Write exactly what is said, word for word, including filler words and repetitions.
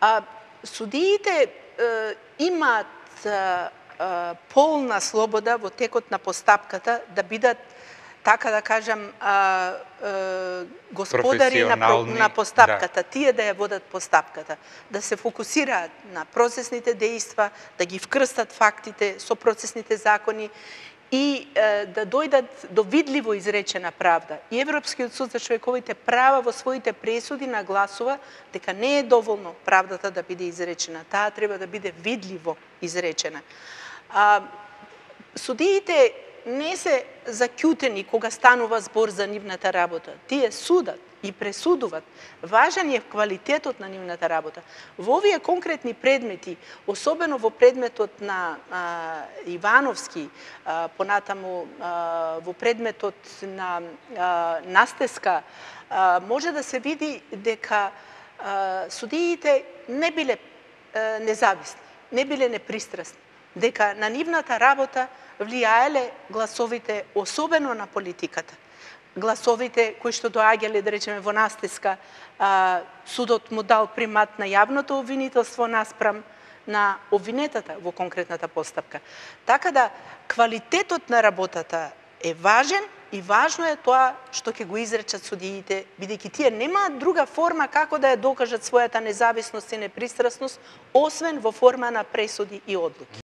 А судиите е, имаат е, е, полна слобода во текот на постапката да бидат, така да кажам, а, а, господари на, на постапката, да. Тие да ја водат постапката, да се фокусираат на процесните дејства, да ги вкрстат фактите со процесните закони и е, да дојдат до видливо изречена правда. И Европскиот суд за човековите права во своите пресуди нагласува дека не е доволно правдата да биде изречена, таа треба да биде видливо изречена. А, судиите не се закјутени кога станува збор за нивната работа. Тие судат и пресудуват. Важен е квалитетот на нивната работа. Во овие конкретни предмети, особено во предметот на а, Ивановски, а, понатаму а, во предметот на а, Настеска, а, може да се види дека а, судиите не биле а, независни, не биле непристрасни, дека на нивната работа влијаеле гласовите, особено на политиката. Гласовите кои што доаѓале, да речеме, во Настеска, а, судот му дал примат на јавното обвинителство наспрам на обвинетата во конкретната постапка. Така да, квалитетот на работата е важен и важно е тоа што ќе го изречат судиите, бидејќи тие немаат друга форма како да ја докажат својата независност и непристрасност, освен во форма на пресуди и одлуки.